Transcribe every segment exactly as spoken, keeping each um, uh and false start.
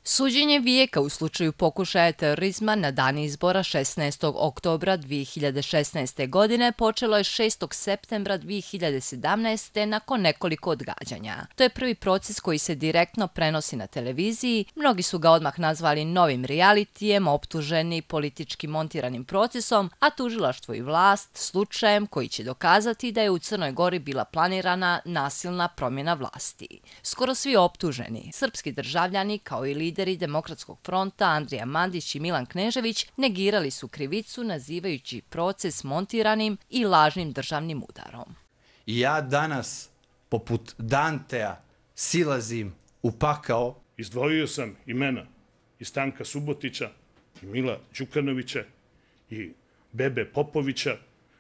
Suđenje vijeka u slučaju pokušaja terorizma na dan izbora šesnaestog oktobra dvije hiljade šesnaeste. godine počelo je šestog septembra dvije hiljade sedamnaeste. nakon nekoliko odgađanja. To je prvi proces koji se direktno prenosi na televiziji. Mnogi su ga odmah nazvali novim realitijem, optuženi politički montiranim procesom, a tužilaštvo i vlast slučajem koji će dokazati da je u Crnoj Gori bila planirana nasilna promjena vlasti. Skoro svi optuženi, srpski državljani kao i lideri Demokratskog fronta Andrija Mandić i Milan Knežević negirali su krivicu nazivajući proces montiranim i lažnim državnim udarom. I ja danas, poput Dantea, silazim u pakao. Izdvojio sam imena i Stanka Subotića, i Mila Đukanovića, i Bebe Popovića.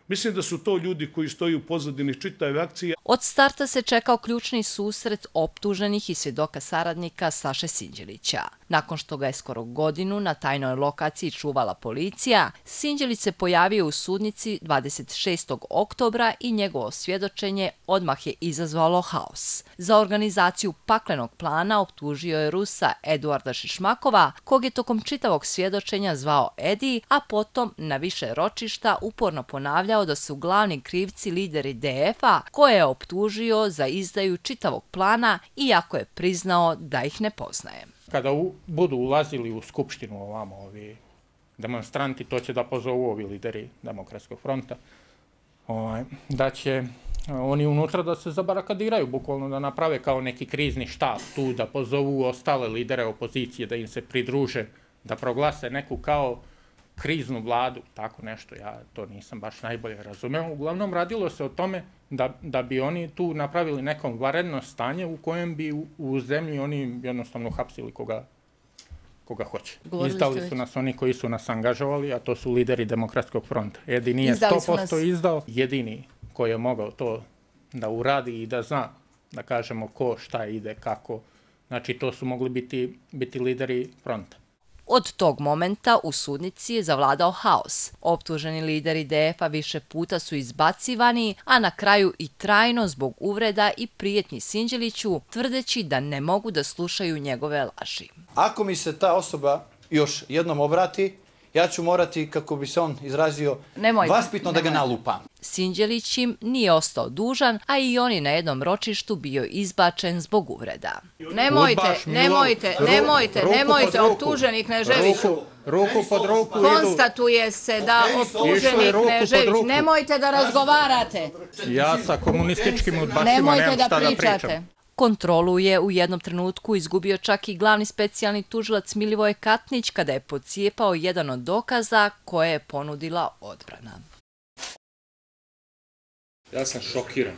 Mislim da su to ljudi koji stoji u pozadini čitave akcije. Od starta se čekao ključni susret optuženih i svjedoka saradnika Saše Sinđelića. Nakon što ga je skoro godinu na tajnoj lokaciji čuvala policija, Sinđelić se pojavio u sudnici dvadeset šestog oktobra i njegovo svjedočenje odmah je izazvalo haos. Za organizaciju paklenog plana optužio je Rusa Eduarda Šišmakova, kog je tokom čitavog svjedočenja zvao Edi, a potom na više ročišta uporno ponavljao da su glavni krivci lideri de efa, koje je optužio za izdaju čitavog plana, iako je priznao da ih ne poznaje. Kada u, budu ulazili u skupštinu ovamo ovi demonstranti, to će da pozovu ovi lideri Demokratskog fronta, ovaj, da će oni unutra da se zabarakadiraju, bukvalno da naprave kao neki krizni štab tu, da pozovu ostale lidere opozicije, da im se pridruže, da proglase neku kao kriznu vladu, tako nešto, ja to nisam baš najbolje razumeo. Uglavnom radilo se o tome da, da bi oni tu napravili neko vanredno stanje u kojem bi u, u zemlji oni jednostavno hapsili koga, koga hoće. Izdali su nas oni koji su nas angažovali, a to su lideri Demokratskog fronta. Jedini je sto posto izdao, jedini koji je mogao to da uradi i da zna, da kažemo ko, šta ide, kako. Znači to su mogli biti, biti lideri fronta. Od tog momenta u sudnici je zavladao haos. Optuženi lideri de efa više puta su izbacivani, a na kraju i trajno zbog uvreda i prijetnji Sinđeliću, tvrdeći da ne mogu da slušaju njegove laži. Ako mi se ta osoba još jednom obrati, ja ću morati, kako bi se on izrazio, nemojte, vaspitno nemojte. da ga nalupam. Sinđelić im nije ostao dužan, a i on je na jednom ročištu bio izbačen zbog uvreda. Nemojte, nemojte, nemojte, nemojte, optuženi Knežević. Ruku pod ruku. Konstatuje se da optuženi Knežević. Nemojte da razgovarate. Ja sa komunističkim udbašima nemam šta da pričam. Kontrolu je u jednom trenutku izgubio čak i glavni specijalni tužilac Milivoje Katnić kada je podcijepao jedan od dokaza koje je ponudila odbrana. Ja sam šokiran.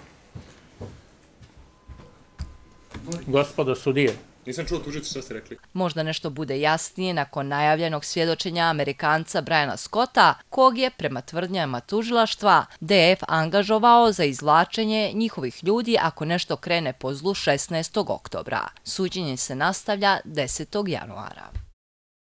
Gospodo sudije. Nisam čuo tužicu što ste rekli. Možda nešto bude jasnije nakon najavljenog svjedočenja Amerikanca Briana Scotta, kog je, prema tvrdnjama tužilaštva, de ef angažovao za izvlačenje njihovih ljudi ako nešto krene po zlu šesnaestog oktobra. Suđenje se nastavlja desetog januara.